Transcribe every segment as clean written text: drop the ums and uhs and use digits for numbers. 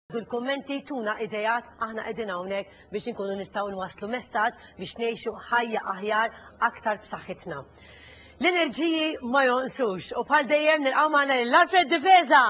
L-kummenti tuna idejat aħna qegħdin hawnhekk biex inkunu nistgħu nwasslu messaġġ biex ngħixu ħajja aħjar aktar b'saħħitna. L-enerġiji ma jonqsux u bħal dejjem nilqgħu magħna lil Alfred Difesa.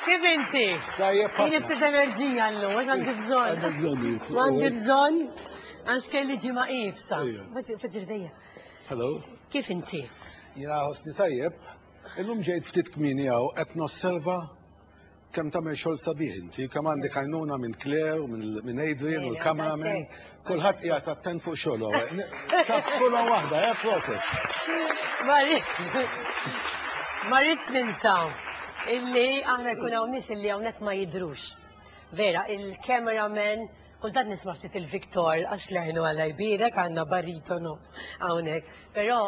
Kif inti? Tajjeb Kien ftit enerġija llum, għax għandi bżonn. Għandi bżonn. Għandi bżonn għax kelli ġimgħa iebsa. Faġir dejja. Hello. Kif inti? Jiena ħossni tajjeb. Illum ġejt ftit kmieni hawn qed nosserva Kemm tagħmel xogħol sabiħ inti, kemm għandek għajnuna minn Claire u minn Adrian u l-cameraman. Kulħadd qiegħed attent fuq xogħol. Ċaffula waħda, eh, proset. Ma rridx ninsa illi aħna jkun hawn nies illi hawnhekk ma jidhrux. Vera, il-cameraman Kultant nisma' ftit il-Victor għax leħnu Alla jbierek għandna baritonu hawnhekk. Però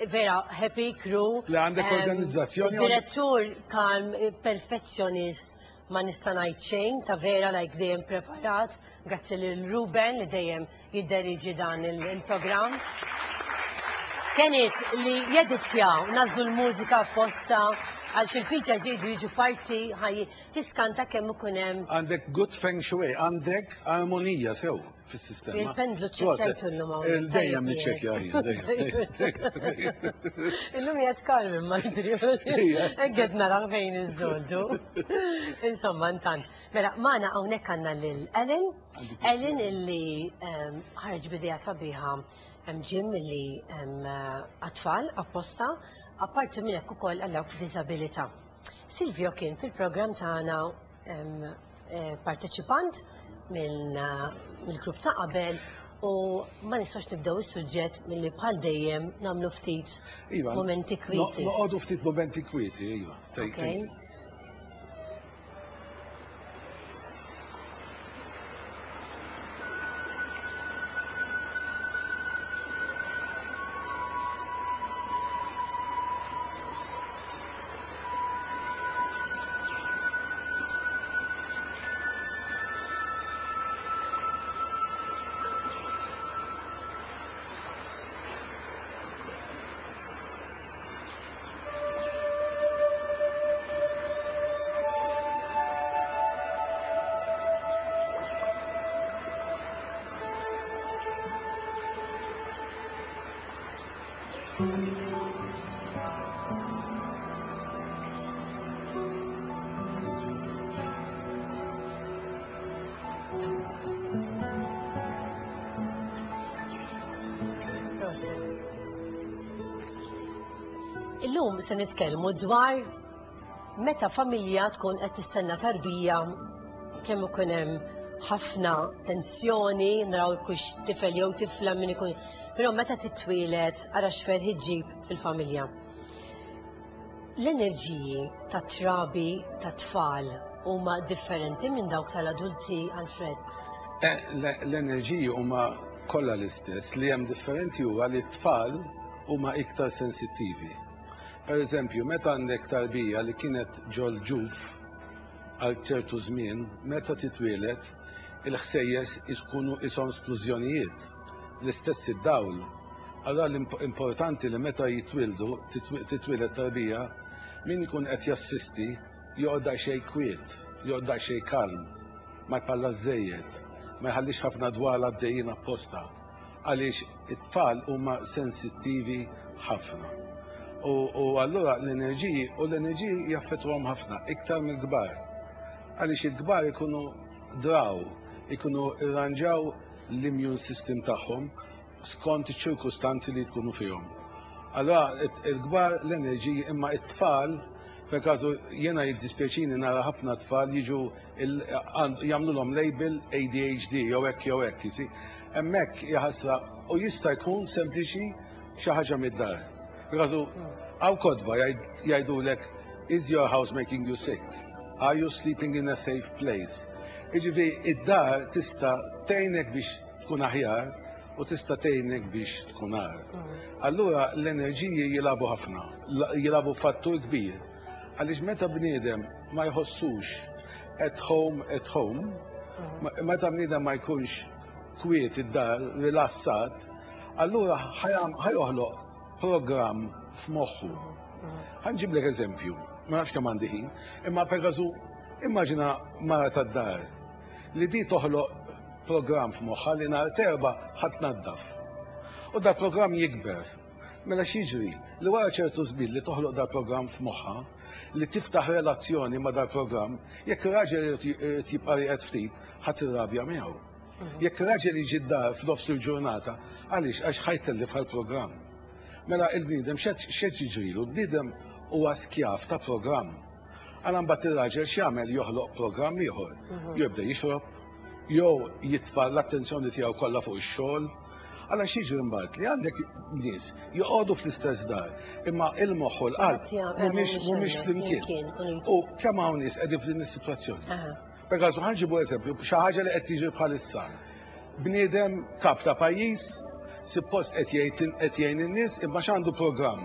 vera happy crew. Li għandek organizzazzjoni. Direttur kalm, perfezzjonist ma nista' ngħid xejn ta' vera like dejjem preparat. Grazzi lil Ruben li dejjem jidderiġi dan il-programm. Kienet li jeditja nażlu l-mużika apposta għal xil-features jridu jiġu parti ħaj Tiskanta kemm ikun hemm. Għandek good feng shui, għandek armonija sew fis-sistema. Il-pendlu ċċekkjajtu llum hawn. Dejjem niċċekkja jien, dejjem. Illum qiegħed kalm imma jidri. Hekk qed naraw fejn iż-żoldu. Insomma, intant. Mela, magħna hawnhekk għandna lil Ellen. Ellen illi ehm, ħareġ bidea sabiħa hemm ġim illi ehm, għat-tfal apposta, apparti minn hekk ukoll għal dawk b'diżabilità. Silvio kien fil-programm tagħna eh, parteċipant mill-grupp ta' qabel u ma nistax nibdew is-suġġett milli bħal dejjem nagħmlu ftit iva, momenti kwieti. Noqogħdu ftit momenti kwieti, iva. Illum se nitkellmu dwar meta familja tkun qed tistenna tarbija kemm ikun hemm ħafna tensjoni, naraw kux tifel jew tifla min ikun. Però meta titwieled ara x'ferħ iġġib fil-familja. L-enerġiji ta' trabi ta' tfal huma differenti minn dawk tal-adulti, Alfred? Eh, l-enerġiji huma kollha l-istess, li hemm differenti huwa li t-tfal huma iktar sensittivi. Per eżempju, meta għandek tarbija li kienet ġol ġuf għal ċertu żmien, meta titwieled, il-ħsejjes ikunu ishom splużjonijiet. L-istess id-dawl. Allura l-importanti li meta jitwieldu, titwieled tarbija, min ikun qed jassisti joqgħod daqsxejn kwiet, joqgħod daqsxejn kalm, ma jparlax żejjed, ma jħallix ħafna dwal għaddejjin apposta. Għaliex it-tfal huma sensittivi ħafna. U, u allura l-enerġiji u l-enerġiji jaffettwahom ħafna iktar mill-kbar. Għaliex il-kbar ikunu draw, ikunu irranġaw l-immune system tagħhom skont iċ-ċirkustanzi li tkunu fihom. Allura il-kbar l-enerġiji imma it-tfal per każu jiena jiddispjaċini nara ħafna tfal jiġu jagħmlulhom label ADHD jew hekk jew hekk, you see. Hemmhekk jaħasra u jista' jkun sempliċi xi ħaġa mid-dar. Każu hawn kotba jgħidulek is your house making you sick? Are you sleeping in a safe place? Jiġifieri id-dar tista' tgħinek biex tkun aħjar u tista' tgħinek biex tkun agħar. Mm. Allura l-enerġiji jilagħbu ħafna, jilagħbu fattur kbir. Għaliex meta bniedem ma jħossux at home at home, mm. meta bniedem ma jkunx kwiet id-dar, rilassat, allura ħajoħloq programm f'moħħu. Mm. Ħanġiblek eżempju, ma nafx kemm għandi ħin, imma per każu. Immaġina mara tad-dar li di toħloq programm f'moħħha li nhar t'Erbgħa ħa tnaddaf. U dal-programm jikber. Mela x'jiġri? Li wara ċertu żmien li toħloq dal-programm f'moħħha, li tiftaħ relazzjoni ma' dal-programm, jekk ir-raġel irid jibqa' rieqed ftit, ħa tirrabja miegħu. Jekk ir-raġel jiġi d-dar f'nofs il-ġurnata, għaliex? Għax ħa jtellifha l-programm. Mela il-bniedem x'qed jiġrilu? Il-bniedem huwa skjav ta' programm. Għala mbagħad ir-raġel x'jagħmel joħloq programm ieħor. Jew jibda jixrob, jew jitfa' l-attenzjoni tiegħu kollha fuq ix-xogħol. Għala x'jiġri mbagħad li għandek nies joqogħdu fl-istess dar, imma il-moħħ u l-qalb mhumiex flimkien. U kemm hawn nies qegħdin f'din is-sitwazzjoni. Per każ ħa nġibu eżempju, xi ħaġa li qed tiġri bħalissa. Bniedem kap ta' pajjiż, suppost qed jgħid qed jgħin in-nies imma x'għandu programm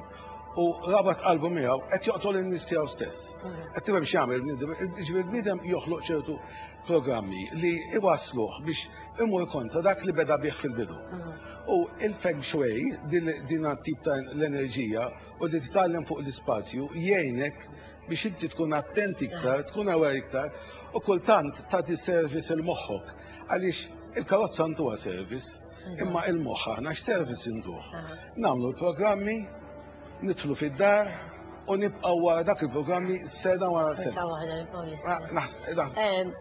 u rabat qalbu miegħu qed joqtol in-nies tiegħu stess. Qed tifhem x'jagħmel bniedem, jiġifieri bniedem joħloq ċertu programmi li iwassluh biex imur kontra dak li beda bih fil-bidu. U il-feng shui, din tip ta' l-enerġija u li titgħallem fuq l-ispazju jgħinek biex inti tkun attent iktar, tkun aware iktar u kultant tagħti service il-moħħok. Għaliex il-karozza ntuha service, imma il-moħħ aħna x'service intuh. Nagħmlu l-programmi, nidħlu fid-dar u nibqgħu wara dak il-programmi sena wara sena.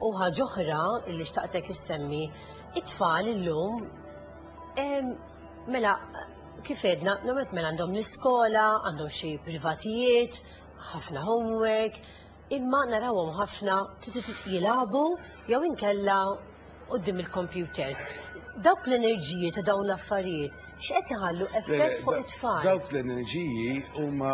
U ħaġa oħra li xtaqtek issemmi, it-tfal illum mela kif għedna, mela għandhom l-iskola, għandhom xi privatijiet, ħafna homework, imma narawhom ħafna jilagħbu jew inkella quddiem il-computer. Dawk l-enerġiji ta' dawn l-affarijiet, x'qed iħallu effett fuq it-tfal? Dawk l-enerġiji huma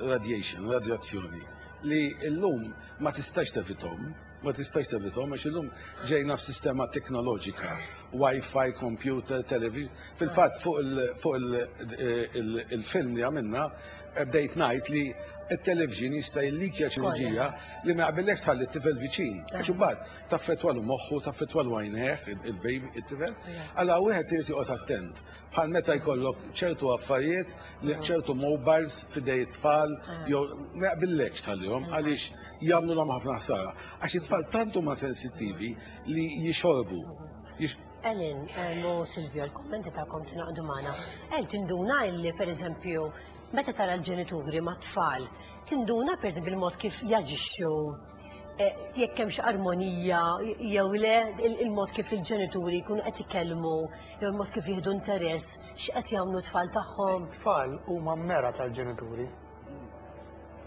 radiation, radjazzjoni, li llum ma tistax tevithom, ma tistax tevithom għax illum ġejna f'sistema teknoloġika, Wi-Fi, computer, television. Fil-fatt fuq il-film li għamilna bdejt ngħid li t-television jista' jillikja enerġija li ma jaqbillekx tħalli t-tifel viċin. Għax imbagħad taffettwalu moħħu, taffettwalu għajnejh, il-baby, it-tifel. Alla wieħed irid joqgħod attent. Bħal meta jkollok ċertu affarijiet, li ċertu mobiles f'idej it-tfal, jew ma jaqbillekx tħallihom għaliex jagħmlulhom ħafna ħsara. Għax it-tfal tant huma sensittivi li jixorbu. Ellen, u Silvio, l-kommenti tagħkom tingħaqdu magħna. El tinduna illi pereżempju meta tara l-ġenituri mat-tfal, tinduna pereżempju il-mod kif jaġixxu jekk hemmx armonija jew le il-mod kif il-ġenituri jkunu qed ikellmu jew il-mod kif jieħdu interess x'qed jagħmlu t-tfal tagħhom. Tfal huma mera tal-ġenituri.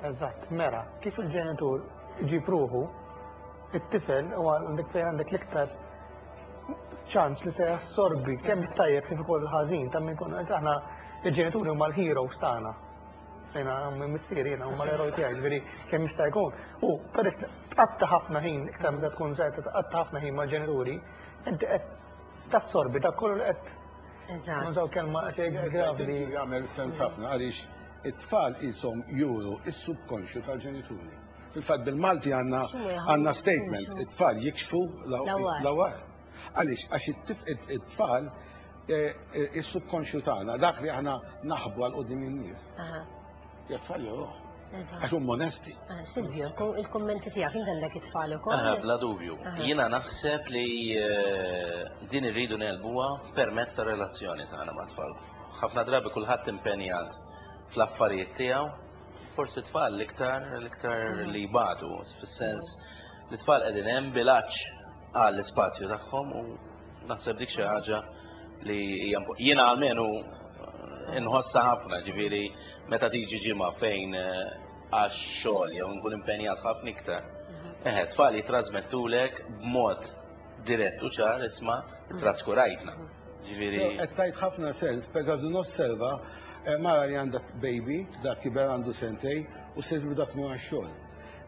Eżatt, mera. Kif il-ġenitur iġib ruħu, it-tifel u għandek fejn għandek l-iktar ċans li se jassorbi kemm tajjeb kif ukoll il-ħażin ta' minn kun aħna il-ġenituri huma l-heroes tagħna. Fejn missieri jiena huma l-eroj tiegħi, ġifieri kemm jista' jkun. U peress li tqatta' ħafna ħin iktar meta tkun żgħir tqatta' ħafna ħin mal-ġenituri, inti qed tassorbi dak kollu li qed Nużaw kelma gravi li jagħmel sens ħafna għaliex it-tfal qishom juru is-subkonxju tal-ġenituri. Fil-fatt bil-Malti għandna għandna statement, it-tfal jikxfu l-awar. Għaliex għax it-tfal is-subkonxju tagħna, dak li aħna naħbu għal quddiem in-nies. It-tfal juruh. Għax huma onesti. Silvio, il-kommenti tiegħek int għandek it-tfal ukoll. Bla dubju. Jiena naħseb li din irridu negħlbuha permezz ta' relazzjoni tagħna mat-tfal. Ħafna drabi kulħadd impenjat fl-affarijiet tiegħu, forsi tfal l-iktar l-iktar li jbatu, fis-sens li tfal qegħdin hemm bil-għatx għall-ispazju tagħhom u naħseb dik xi ħaġa li hija jiena almenu inħossha ħafna, ġifieri meta tiġi ġimgħa fejn għax xogħol jew nkun impenjat ħafna iktar. Eħe, tfal jitrasmettulek b'mod dirett u ċar isma' traskurajtna. Ġifieri. Qed tgħid ħafna sens, per każu nosserva mara li għandha baby, dak kiber għandu sentej, u se tibda tmur għax-xogħol.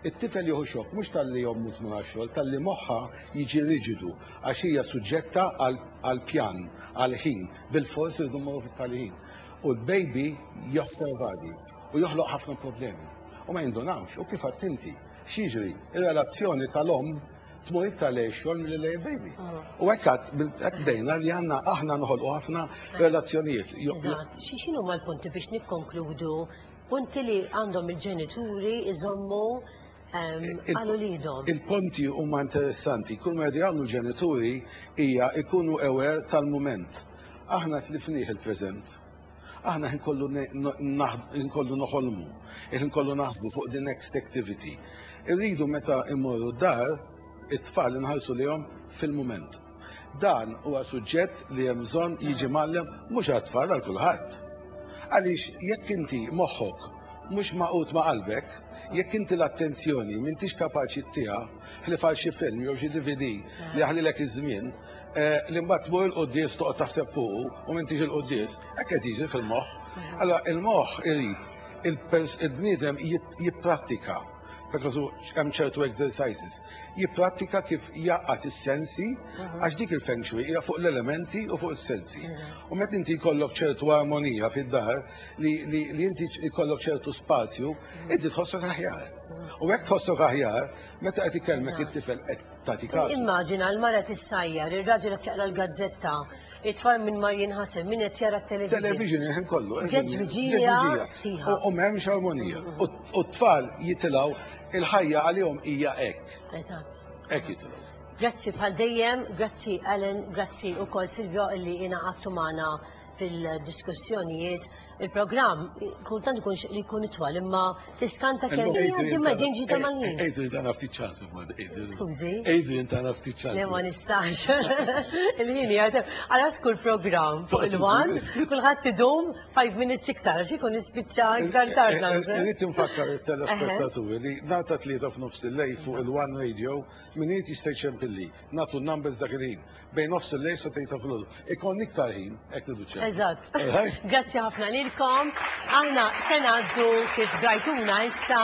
It-tifel jieħu xokk mhux talli ommu tmur għax-xogħol, talli moħħha jiġi riġidu għax hija suġġetta għal pjan, għal ħin, bilfors irridu mmorru fit-tali ħin. U l-baby josserva di u joħloq ħafna problemi. U ma jindunawx, u kif għedt inti, x'jiġri? Ir-relazzjoni tal-omm tmur iktar lejn ix-xogħol milli lejn il-baby. U hekk hekk bdejna li għandna aħna noħolqu ħafna relazzjonijiet. Eżatt, x'inhuma l-punti biex nikkonkludu, punti li għandhom il-ġenituri iżommu għal uliedhom. Il-ponti huma interessanti, kull ma jgħidu l-ġenituri hija ikunu aware tal-mument. Aħna tlifnieh il-preżent. Aħna ħin kollu noħolmu, ħin kollu naħsbu fuq the next activity. Irridu meta immorru dar, it-tfal inħarsu lejhom fil-mument. Dan huwa suġġett li hemm bżonn jiġi mgħallem mhux għat-tfal għal kulħadd. Għaliex jekk inti moħħok mhux magħqud ma' qalbek, jekk inti l-attenzjoni m'intix kapaċi ttiha ħlief għal xi film jew xi DVD li jaħlilek iż-żmien, li mbagħad tmur il-quddies toqgħod taħseb fuqu u m'intix il-quddies, hekk qed jiġri fil-moħħ. Allora il-moħħ irid il-bniedem jipprattika, perkażu hemm ċertu exercises, jipprattika kif jgħaqqad is-sensi għax dik il-feng shui hija fuq l-elementi u fuq is-sensi. U meta inti jkollok ċertu armonija fid-dar li inti jkollok ċertu spazju, inti tħossok aħjar. U hekk tħossok aħjar meta qed ikellmek it-tifel qed tagħti kasu. Immaġina l-mara tissajjar, ir-raġel qed jaqra l-gazzetta, it-tfal minn mar jinħasel, min qed jara t-television. Television il-ħin kollu. Geġġiġija sħiħa. U m'hemmx armonija. U t-tfal jitilgħu il-ħajja għalihom hija hekk. Eżatt. Hekk jitilgħu. Grazzi bħal dejjem, grazzi Alan, grazzi wkoll Silvio illi ingħaqadtu magħna fil-diskussjonijiet. Il-programm kultant ikun li jkun itwal imma tiskanta kemm jgħaddi ma dejjem ġita mal-ħin. Adrian tana ftit ċans imma Adrian. Skużi? Adrian tana ftit ċans. Le ma nistax. Il-ħin jgħaddi. Għalas kull programm fuq il-one, kulħadd idum 5 minutes iktar għax ikun ispiċċa iktar tard. Irrid infakkar it-telespettaturi li nhar ta' Tlieta f'nofs il-lejl fuq il-One Radio min irid jista' jċempilli. Nagħtu n-numbers dak il-ħin. Bejn nofs il-lejl sa tgħid ta' filgħodu. Ikollni iktar ħin, hekk tridu ċertu. Eżatt. Grazzi ħafna lilkom. Aħna se ngħaddu kif drajtuna issa.